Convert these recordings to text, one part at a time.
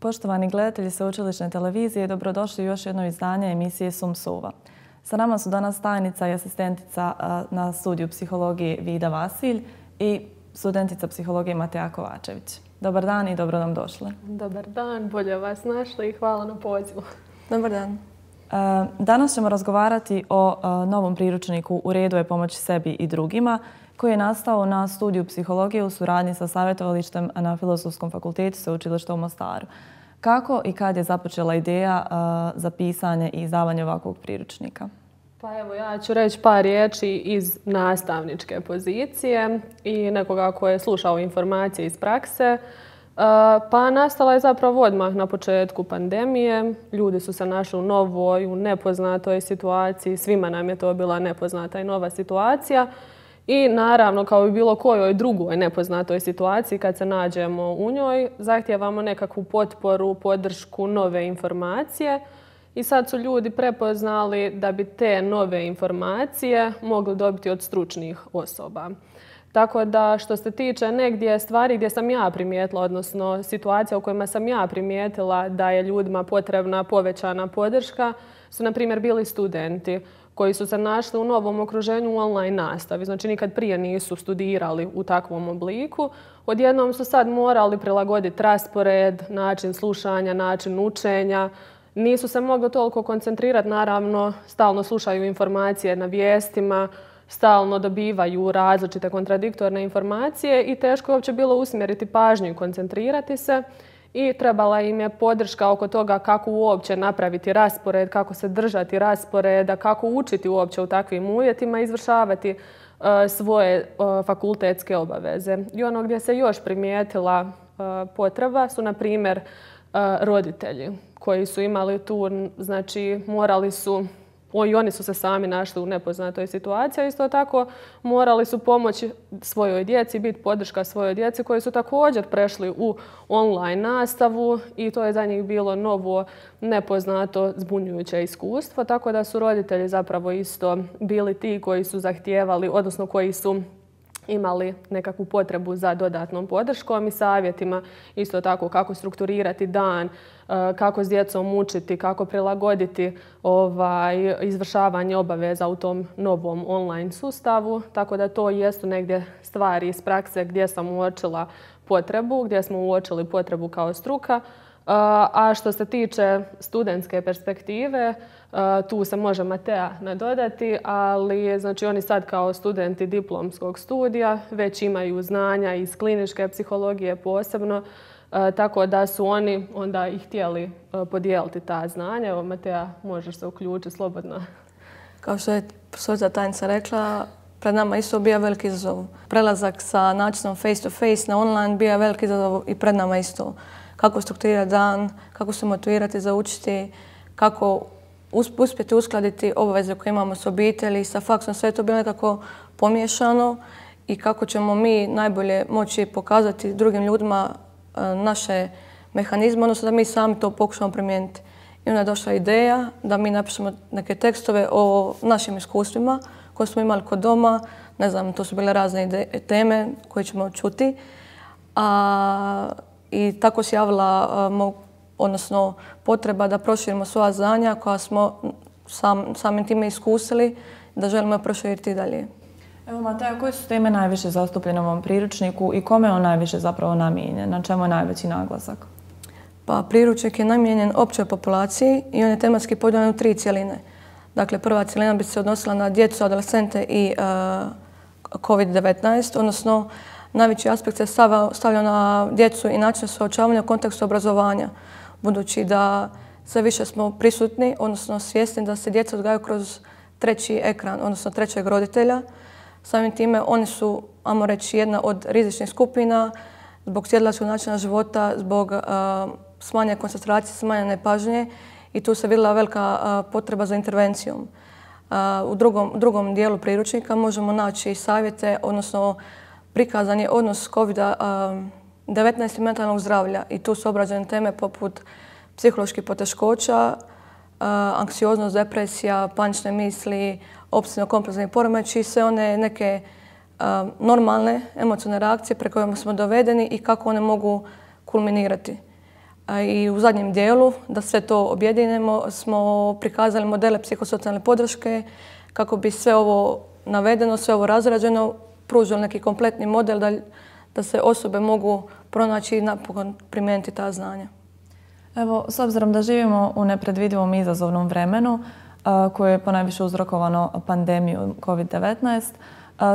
Poštovani gledatelji Sveučilišne televizije, dobrodošli u još jedno izdanje emisije Sum-Suva. Sa nama su danas tajnica i asistentica na studiju psihologije Vida Vasilj i studentica psihologije Mateja Kovačević. Dobar dan i dobro nam došli. Dobar dan, bolje vas našli i hvala na pozivu. Dobar dan. Danas ćemo razgovarati o novom priručniku U redu je pomoći sebi i drugima, koji je nastao na studiju psihologije u suradnji sa savjetovalištem na Filozofskom fakultetu Sveučilišta u Mostaru. Kako i kad je započela ideja za pisanje i izdavanje ovakvog priručnika? Pa evo, ja ću reći par riječi iz nastavničke pozicije i nekoga ko je slušao informacije iz prakse. Pa nastala je zapravo odmah na početku pandemije. Ljudi su se našli u novoj, u nepoznatoj situaciji. Svima nam je to bila nepoznata i nova situacija. I naravno, kao i bilo kojoj drugoj nepoznatoj situaciji, kad se nađemo u njoj, zahtijevamo nekakvu potporu, podršku, nove informacije. I sad su ljudi prepoznali da bi te nove informacije mogli dobiti od stručnih osoba. Tako da što se tiče negdje stvari gdje sam ja primijetila, odnosno situacija u kojima sam ja primijetila da je ljudima potrebna povećana podrška, su na primjer bili studenti koji su se našli u novom okruženju u online nastavi. Znači nikad prije nisu studirali u takvom obliku. Odjednom su sad morali prilagoditi raspored, način slušanja, način učenja. Nisu se mogli toliko koncentrirati, naravno, stalno slušaju informacije na vijestima, stalno dobivaju različite kontradiktorne informacije i teško je uopće bilo usmjeriti pažnju i koncentrirati se. I trebala im je podrška oko toga kako uopće napraviti raspored, kako se držati rasporeda, kako učiti uopće u takvim uvjetima i izvršavati svoje fakultetske obaveze. I ono gdje se još primijetila potreba su, na primjer, roditelji koji su imali tu, znači morali su, i oni su se sami našli u nepoznatoj situaciji, a isto tako morali su pomoći svojoj djeci, biti podrška svojoj djeci koji su također prešli u online nastavu i to je za njih bilo novo, nepoznato, zbunjujuće iskustvo. Tako da su roditelji zapravo isto bili ti koji su zahtijevali, odnosno koji su imali nekakvu potrebu za dodatnom podrškom i savjetima, isto tako kako strukturirati dan, kako s djecom učiti, kako prilagoditi izvršavanje obaveza u tom novom online sustavu. Tako da to jesu negdje stvari iz prakse gdje sam uočila potrebu, gdje smo uočili potrebu kao struka. A što se tiče studentske perspektive, tu se može Mateja nadodati, ali znači oni sad kao studenti diplomskog studija već imaju znanja iz kliničke psihologije posebno, tako da su oni onda i htjeli podijeliti ta znanja. Evo, Mateja, možeš se uključiti slobodno. Kao što je profesorica tajnica rekla, pred nama isto bio veliki izazov. Prelazak sa načinom face to face na online bio veliki izazov i pred nama isto. Kako strukturirati dan, kako se motivirati za učiti, kako uspjeti uskladiti obaveze koje imamo s obitelji, sa faksom, sve je to bilo nekako pomiješano i kako ćemo mi najbolje moći pokazati drugim ljudima naše mehanizme, odnosno da mi sami to pokušamo primijeniti. I onda je došla ideja da mi napišemo neke tekstove o našim iskustvima koje smo imali kod doma. Ne znam, to su bile razne teme koje ćemo čuti. I tako se javila odnosno potreba da proširimo svoja znanja koja smo samim time iskusili, da želimo proširiti dalje. Evo, Mateja, koje su teme najviše zastupljene u ovom priručniku i kome je on najviše zapravo namijenjen? Na čemu je najveći naglasak? Pa priručnik je namijenjen općoj populaciji i on je tematski podijeljen u 3 cjeline. Dakle, prva cjelina bi se odnosila na djecu, adolescente i COVID-19, odnosno najveći aspekt se stavlja na djecu i način suočavanja u kontekstu obrazovanja, budući da sve više smo prisutni, odnosno svjesni da se djeca odgajaju kroz treći ekran, odnosno trećeg roditelja. Samim time oni su, ajmo reći, jedna od rizičnih skupina zbog sjedilačkog načina života, zbog smanjene koncentracije, smanjene pažnje i tu se vidjela velika potreba za intervencijom. U drugom dijelu priručnika možemo naći savjete, odnosno prikazan je odnos COVID-19 i mentalnog zdravlja i tu su obrađene teme poput psiholoških poteškoća, anksioznost, depresija, panične misli, opsesivno-kompulzivni poremećaji, sve one neke normalne emocionalne reakcije preko kojima smo dovedeni i kako one mogu kulminirati. I u zadnjem dijelu, da sve to objedinimo, smo prikazali modele psihosocijalne podrške kako bi sve ovo navedeno, sve ovo razrađeno, pružilo neki kompletni model da se osobe mogu pronaći i napokon primijeniti ta znanja. Evo, s obzirom da živimo u nepredvidivom i izazovnom vremenu koje je ponajviše uzrokovano pandemijom COVID-19,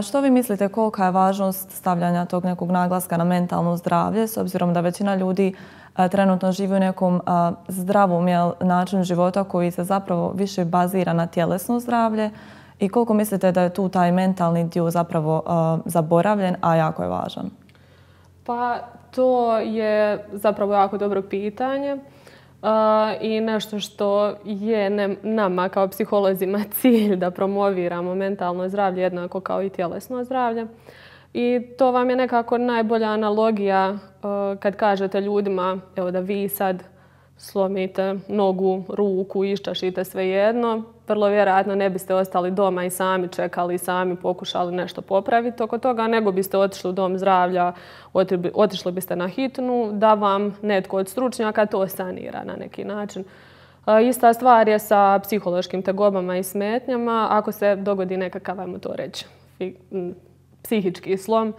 što vi mislite kolika je važnost stavljanja tog nekog naglaska na mentalno zdravlje, s obzirom da većina ljudi trenutno živi u nekom zdravom načinu života koji se zapravo više bazira na tjelesno zdravlje, i koliko mislite da je tu taj mentalni dio zapravo zaboravljen, a jako je važan? Pa to je zapravo jako dobro pitanje i nešto što je nama kao psiholozima cilj da promoviramo mentalno zdravlje jednako kao i tjelesno zdravlje. I to vam je nekako najbolja analogija kad kažete ljudima, evo, da vi sad slomite nogu, ruku, iščašite svejedno, vrlo vjerojatno ne biste ostali doma i sami čekali i sami pokušali nešto popraviti oko toga, nego biste otišli u dom zdravlja, otišli biste na hitnu da vam netko od stručnjaka to sanira na neki način. Ista stvar je sa psihološkim tegobama i smetnjama. Ako se dogodi nekakav, ajmo to reći, psihički slom,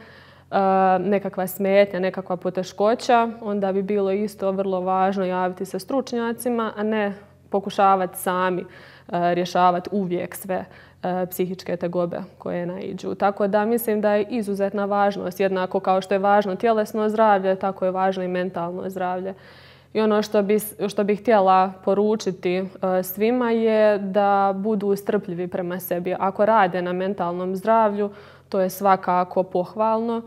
nekakva smetnja, nekakva poteškoća, onda bi bilo isto vrlo važno javiti se stručnjacima, a ne pokušavati sami rješavati uvijek sve psihičke tegobe koje naiđu. Tako da mislim da je izuzetna važnost, jednako kao što je važno tjelesno zdravlje, tako je važno i mentalno zdravlje. I ono što bih htjela poručiti svima je da budu strpljivi prema sebi. Ako rade na mentalnom zdravlju, to je svakako pohvalno.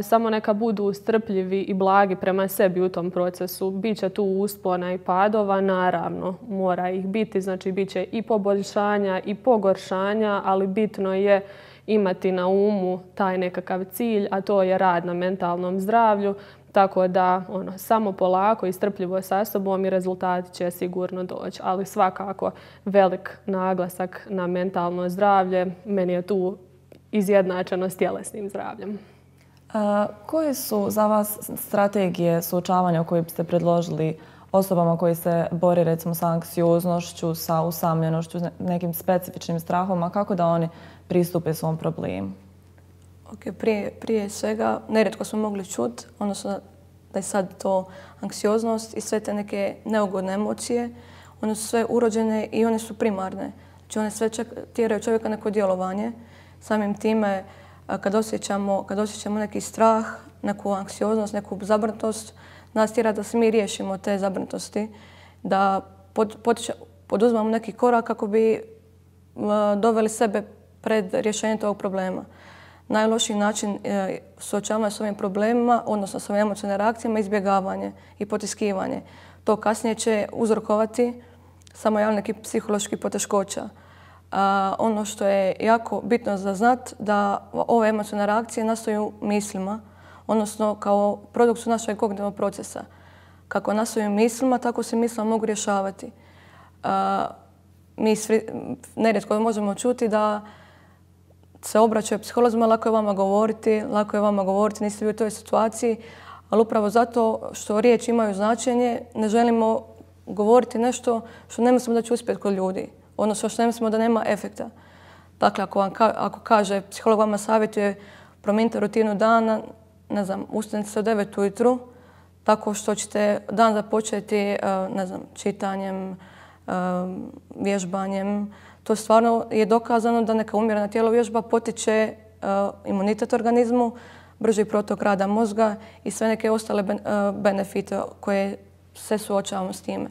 Samo neka budu strpljivi i blagi prema sebi u tom procesu. Biće tu uspona i padova, naravno, mora ih biti. Znači, bit će i poboljšanja i pogoršanja, ali bitno je imati na umu taj nekakav cilj, a to je rad na mentalnom zdravlju. Tako da samo polako i strpljivo sa sobom i rezultati će sigurno doći. Ali svakako velik naglasak na mentalno zdravlje. Meni je tu izjednačeno s tjelesnim zdravljem. Koje su za vas strategije suočavanja koje biste predložili osobama koji se bore recimo sa anksioznošću, sa usamljenošću, nekim specifičnim strahom, kako da oni pristupe svom problemu? Prije svega, nerijetko smo mogli čuti, odnosno da je sad to anksioznost i sve te neke neugodne emocije, one su sve urođene i one su primarne. Znači one sve tjeraju čovjeka neko djelovanje. Samim time, kad osjećamo neki strah, neku anksioznost, neku zabrinutost, nas tjera da se mi riješimo te zabrinutosti, da poduzmemo neki korak kako bi doveli sebe pred rješenje tog problema. Najlošiji način suočavanja s ovim problemima, odnosno s ovim emocionalnim reakcijama, je izbjegavanje i potiskivanje. To kasnije će uzrokovati samo nekih psiholoških poteškoća. Ono što je jako bitno za znat, da ove emocionalne reakcije nastaju mislima, odnosno kao produkt su našeg kognitivnog procesa. Kako nastaju mislima, tako se mislima mogu rješavati. Mi nerijetko možemo čuti da se obraćaju psiholozima, lako je vama govoriti, niste bili u toj situaciji, ali upravo zato što riječi imaju značenje, ne želimo govoriti nešto što ne mislimo da će uspjeti kod ljudi, odnosno što ne mislimo da nema efekta. Dakle, ako kaže psiholog vama savjetuje promijenite rutinu dana, ne znam, ustanite se u 9 ujutru, tako što ćete dan započeti, ne znam, čitanjem, vježbanjem. To stvarno je dokazano da neka umjerena tjelovježba potiče imunitet organizmu, brži protok rada mozga i sve neke ostale benefite koje se suočavamo s time.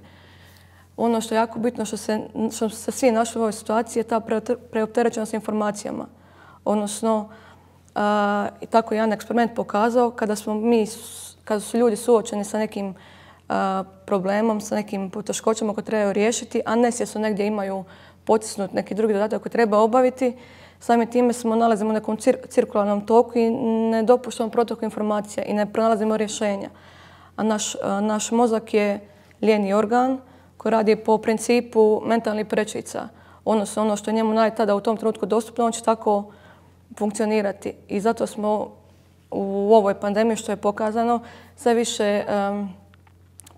Ono što je jako bitno, što se svi našli u ovoj situaciji, je ta preopterećenost informacijama. Odnosno, tako je jedan eksperiment pokazao, kada su ljudi suočeni sa nekim problemom, sa nekim poteškoćama koje trebaju riješiti, a nesvjesno negdje imaju potisnut neki drugi zadatak koji treba obaviti, samim time smo nalazimo u nekom cirkularnom toku i ne dopuštamo protok informacija i ne pronalazimo rješenja. A naš mozak je lijeni organ koji radi po principu mentalnih prečica. Odnosno ono što je njemu tada u tom trenutku dostupno, on će tako funkcionirati. I zato smo u ovoj pandemiji, što je pokazano, sve više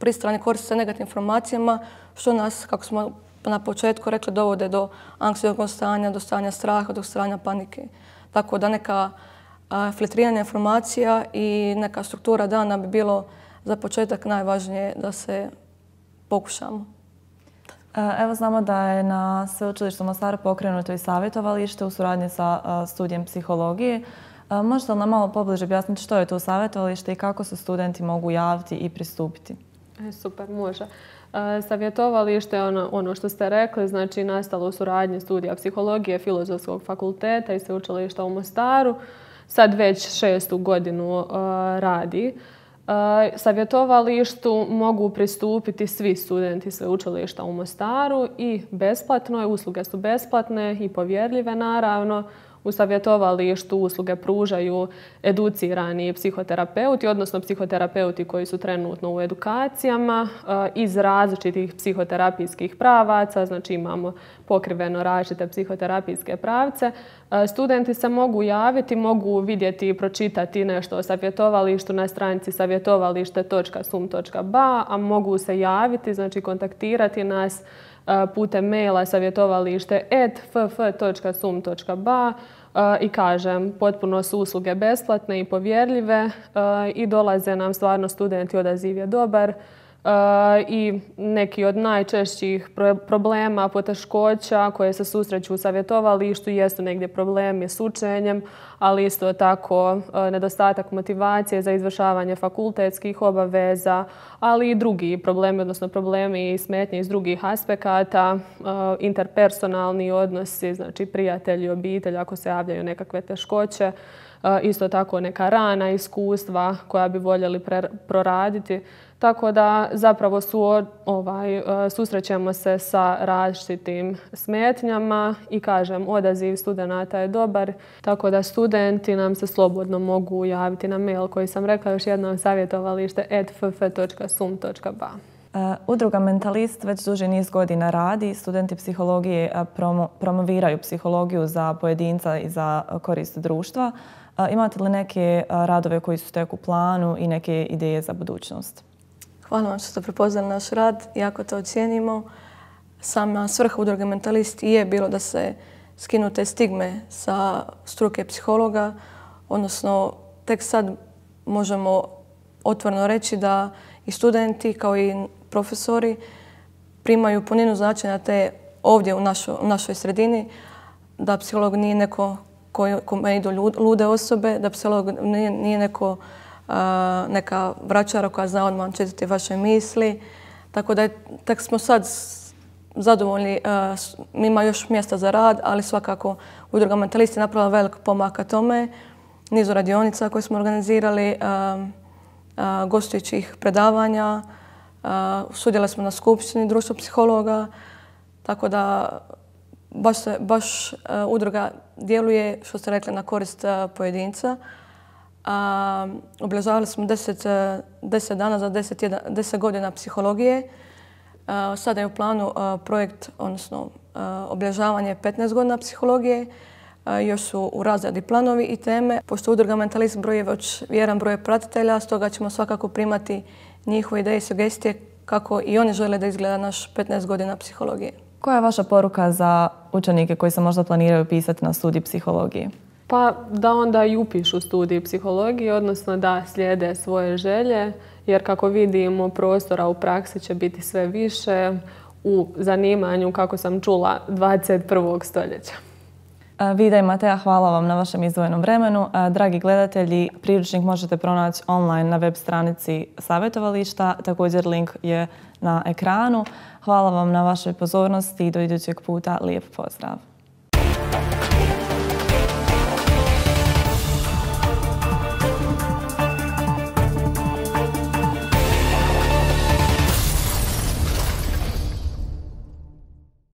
pristrani koriste se negativnim informacijama, što nas, kako smo na početku rekli, dovode do anksioznog stanja, do stanja straha, do stanja panike. Tako da neka filtriranja informacija i neka struktura dana bi bilo za početak najvažnije da se pokušamo. Evo znamo da je na Sveučilištu u Mostaru pokrenuto i savjetovalište u suradnji sa studijem psihologije. Možete li nam malo pobliže objasniti što je to savjetovalište i kako se studenti mogu javiti i pristupiti? Super, može. Savjetovalište je ono što ste rekli, znači nastalo u suradnji studija psihologije Filozofskog fakulteta i Sveučilišta u Mostaru. Sad već 6. godinu radi. Savjetovalištu mogu pristupiti svi studenti Sveučilišta u Mostaru i besplatno je, usluge su besplatne i povjerljive naravno. U savjetovalištu usluge pružaju educirani psihoterapeuti, odnosno psihoterapeuti koji su trenutno u edukacijama iz različitih psihoterapijskih pravaca, znači imamo pokriveno različite psihoterapijske pravce. Studenti se mogu javiti, mogu vidjeti i pročitati nešto o savjetovalištu na stranici savjetovalište.sum.ba, a mogu se javiti, znači kontaktirati nas putem maila savjetovalište@ff.sum.ba i kažem, potpuno su usluge besplatne i povjerljive i dolaze nam stvarno studenti, odaziv je dobar i neki od najčešćih problema, poteškoća koje se susreću u savjetovalištu jesu negdje problemi s učenjem, ali isto tako nedostatak motivacije za izvršavanje fakultetskih obaveza, ali i drugi problemi, odnosno problemi i smetnje iz drugih aspekata, interpersonalni odnosi, znači prijatelji, obitelj, ako se javljaju nekakve teškoće, isto tako neka rana iskustva koja bi voljeli proraditi. Tako da zapravo susrećemo se sa različitim smetnjama i kažem, odaziv studenata je dobar. Tako da studenti nam se slobodno mogu javiti na mail koji sam rekla, još jednom savjetovalište@ff.sum.ba. Udruga Mentalist već duži niz godina radi. Studenti psihologije promoviraju psihologiju za pojedinca i za korist društva. Imate li neke radove koji su tek u planu i neke ideje za budućnost? Hvala vam što ste prepoznali naš rad, jako to ocijenimo. Sama svrha Udruge Mentalist je bilo da se skinu te stigme sa struke psihologa, odnosno tek sad možemo otvoreno reći da i studenti kao i profesori primaju puninu značenja te ovdje u našoj sredini, da psiholog nije neko kome idu lude osobe, da psiholog nije neka vračara koja zna odmah čitati vaše misli. Tako da tek smo sad zadovoljni. Ima još mjesta za rad, ali svakako Udruga Mentalist je napravila velik pomak ka tome. Nizu radionica koje smo organizirali, gostujućih predavanja. Sudjelovali smo na skupštini društva psihologa. Tako da baš udruga djeluje, što ste rekli, na korist pojedinca. Obilježavali smo 10 dana za 10 godina psihologije. Sada je u planu projekt, odnosno obilježavanje 15 godina psihologije. Još su u razradi planovi i teme. Pošto Udruga Mentalist broji već vjeran broj pratitelja, stoga ćemo svakako primati njihove ideje i sugestije kako i oni žele da izgleda naš 15 godina psihologije. Koja je vaša poruka za učenike koji se možda planiraju pisati na studij psihologije? Pa da onda i upišu studij psihologije, odnosno da slijede svoje želje, jer kako vidimo prostora u praksi će biti sve više u zanimanju, kako sam čula, 21. stoljeća. Vida i Mateja, hvala vam na vašem izdvojenom vremenu. Dragi gledatelji, priručnik možete pronaći online na web stranici savjetovališta. Također link je na ekranu. Hvala vam na vašoj pozornosti i do idućeg puta. Lijep pozdrav!